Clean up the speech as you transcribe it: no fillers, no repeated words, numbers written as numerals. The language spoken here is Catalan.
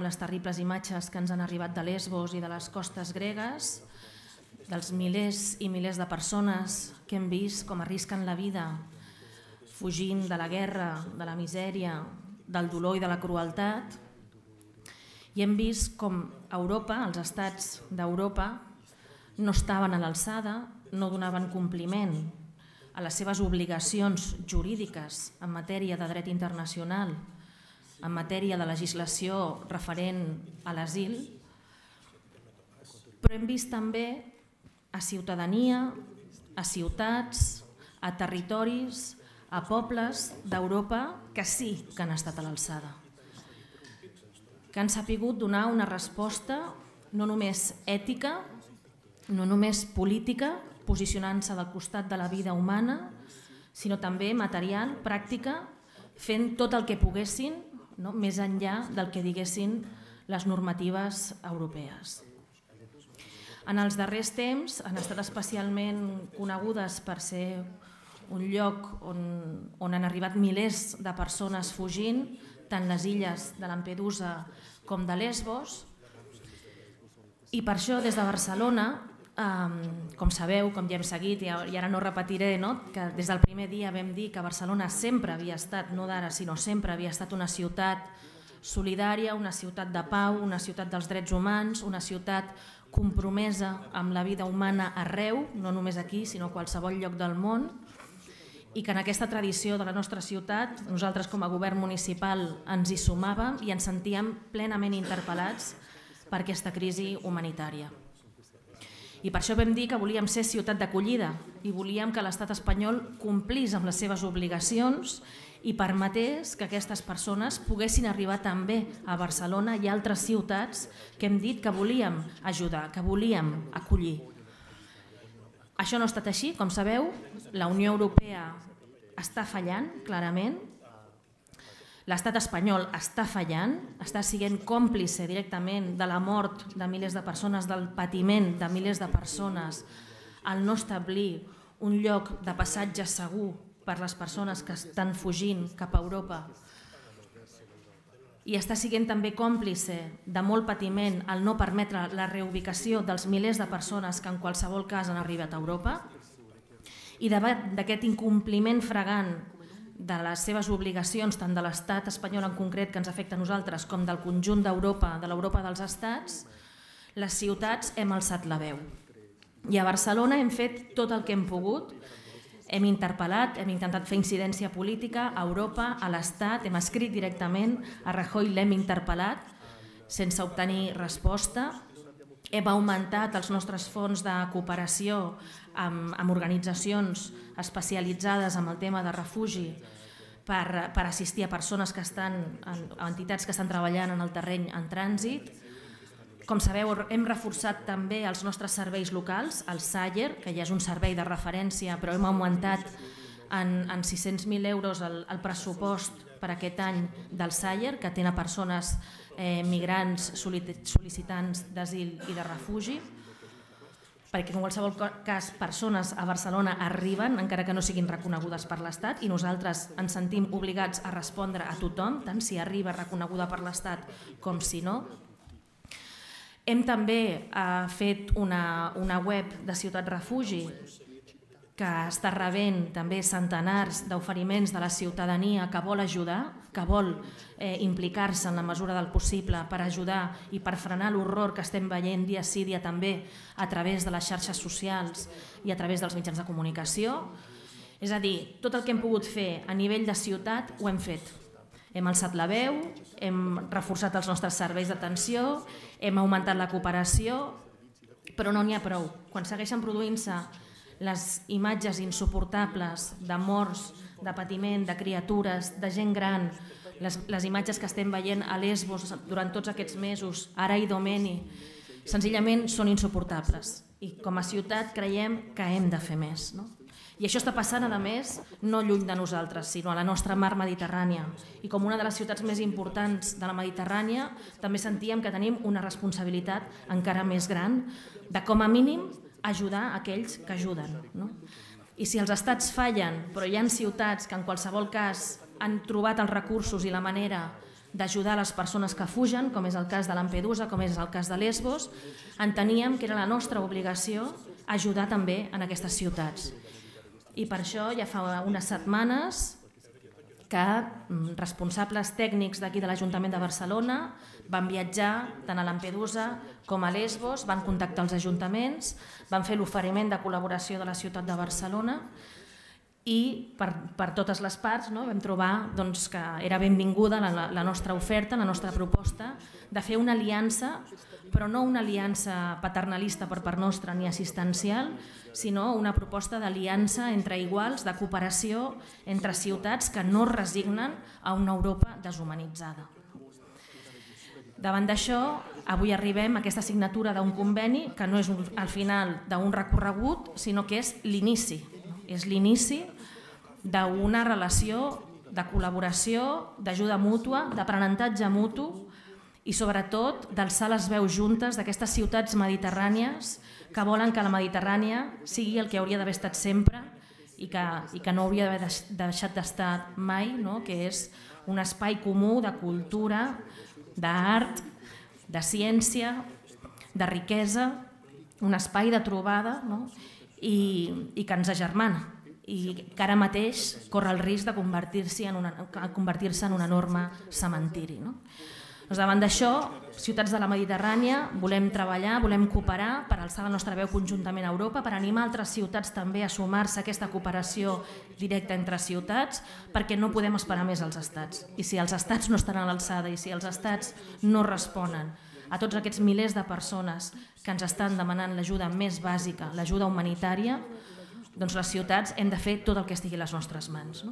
les terribles imatges que ens han arribat de Lesbos i de les costes gregues, dels milers i milers de persones que hem vist com arrisquen la vida fugint de la guerra, de la misèria, del dolor i de la crueltat. I hem vist com Europa, els estats d'Europa, no estaven a l'alçada, no donaven compliment a les seves obligacions jurídiques en matèria de dret internacional, en matèria de legislació referent a l'asil, però hem vist també a ciutadania, a ciutats, a territoris, a pobles d'Europa que sí que han estat a l'alçada, que han sabut donar una resposta no només ètica, no només política, posicionant-se del costat de la vida humana, sinó també material, pràctica, fent tot el que poguessin, més enllà del que diguessin les normatives europees. En els darrers temps han estat especialment conegudes per ser un lloc on han arribat milers de persones fugint, tant les illes de Lampedusa com de Lesbos, i per això des de Barcelona, com sabeu, com ja hem seguit, i ara no repetiré, que des del primer dia vam dir que Barcelona sempre havia estat, no d'ara, sinó sempre havia estat una ciutat solidària, una ciutat de pau, una ciutat dels drets humans, una ciutat compromesa amb la vida humana arreu, no només aquí, sinó a qualsevol lloc del món, i que en aquesta tradició de la nostra ciutat nosaltres com a govern municipal ens hi sumàvem i ens sentíem plenament interpel·lats per aquesta crisi humanitària. I per això vam dir que volíem ser ciutat d'acollida i volíem que l'estat espanyol complís amb les seves obligacions i permetés que aquestes persones poguessin arribar també a Barcelona i a altres ciutats que hem dit que volíem ajudar, que volíem acollir. Això no ha estat així, com sabeu, la Unió Europea està fallant, clarament, l'estat espanyol està fallant, està sent còmplice directament de la mort de milers de persones, del patiment de milers de persones, al no establir un lloc de passatge segur per les persones que estan fugint cap a Europa. I està sent també còmplice de molt patiment al no permetre la reubicació dels milers de persones que en qualsevol cas han arribat a Europa. I davant d'aquest incompliment flagrant de les seves obligacions, tant de l'estat espanyol en concret que ens afecta a nosaltres com del conjunt d'Europa, de l'Europa dels estats, les ciutats hem alçat la veu. I a Barcelona hem fet tot el que hem pogut, hem interpel·lat, hem intentat fer incidència política a Europa, a l'Estat, hem escrit directament, a Rajoy l'hem interpel·lat sense obtenir resposta, hem augmentat els nostres fons de cooperació amb organitzacions especialitzades en el tema de refugi per assistir a persones que estan, a entitats que estan treballant en el terreny en trànsit. Com sabeu, hem reforçat també els nostres serveis locals, el SAIER, que ja és un servei de referència, però hem augmentat en 600.000 euros el pressupost per aquest any del SAIER, que atén a persones migrants sol·licitants d'asil i de refugi, perquè en qualsevol cas persones a Barcelona arriben, encara que no siguin reconegudes per l'Estat, i nosaltres ens sentim obligats a respondre a tothom, tant si arriba reconeguda per l'Estat com si no. Hem també fet una web de Ciutat Refugi que està rebent també centenars d'oferiments de la ciutadania que vol ajudar, que vol implicar-se en la mesura del possible per ajudar i per frenar l'horror que estem veient dia sí dia també a través de les xarxes socials i a través dels mitjans de comunicació. És a dir, tot el que hem pogut fer a nivell de ciutat ho hem fet. Hem alçat la veu, hem reforçat els nostres serveis d'atenció, hem augmentat la cooperació, però no n'hi ha prou. Quan segueixen produint-se les imatges insuportables de morts, de patiment, de criatures, de gent gran, les imatges que estem veient a Lesbos durant tots aquests mesos, ara a Idomeni, senzillament són insuportables. I com a ciutat creiem que hem de fer més. I això està passant, a més, no lluny de nosaltres, sinó a la nostra mar Mediterrània. I com una de les ciutats més importants de la Mediterrània, també sentíem que tenim una responsabilitat encara més gran de, com a mínim, ajudar aquells que ajuden. I si els estats fallen, però hi ha ciutats que en qualsevol cas han trobat els recursos i la manera d'ajudar les persones que fugen, com és el cas de Lampedusa, com és el cas de Lesbos, enteníem que era la nostra obligació ajudar també en aquestes ciutats. I per això ja fa unes setmanes que responsables tècnics d'aquí de l'Ajuntament de Barcelona van viatjar tant a Lampedusa com a Lesbos, van contactar els ajuntaments, van fer l'oferiment de col·laboració de la ciutat de Barcelona i per totes les parts vam trobar que era benvinguda la nostra oferta, la nostra proposta de fer una aliança, però no una aliança paternalista per part nostra ni assistencial, sinó una proposta d'aliança entre iguals, de cooperació entre ciutats que no es resignen a una Europa deshumanitzada. Davant d'això, avui arribem a aquesta signatura d'un conveni que no és al final d'un recorregut, sinó que és l'inici. És l'inici d'una relació de col·laboració, d'ajuda mútua, d'aprenentatge mutu i sobretot d'alçar les veus juntes d'aquestes ciutats mediterrànies que volen que la Mediterrània sigui el que hauria d'haver estat sempre i que no hauria d'haver deixat d'estar mai, que és un espai comú de cultura, d'art, de ciència, de riquesa, un espai de trobada i que ens agermana i que ara mateix corre el risc de convertir-se en un enorme cementiri. Davant d'això, ciutats de la Mediterrània, volem treballar, volem cooperar per alçar la nostra veu conjuntament a Europa, per animar altres ciutats també a sumar-se a aquesta cooperació directa entre ciutats, perquè no podem esperar més als estats. I si els estats no estan a l'alçada i si els estats no responen a tots aquests milers de persones que ens estan demanant l'ajuda més bàsica, l'ajuda humanitària, doncs les ciutats hem de fer tot el que estigui a les nostres mans.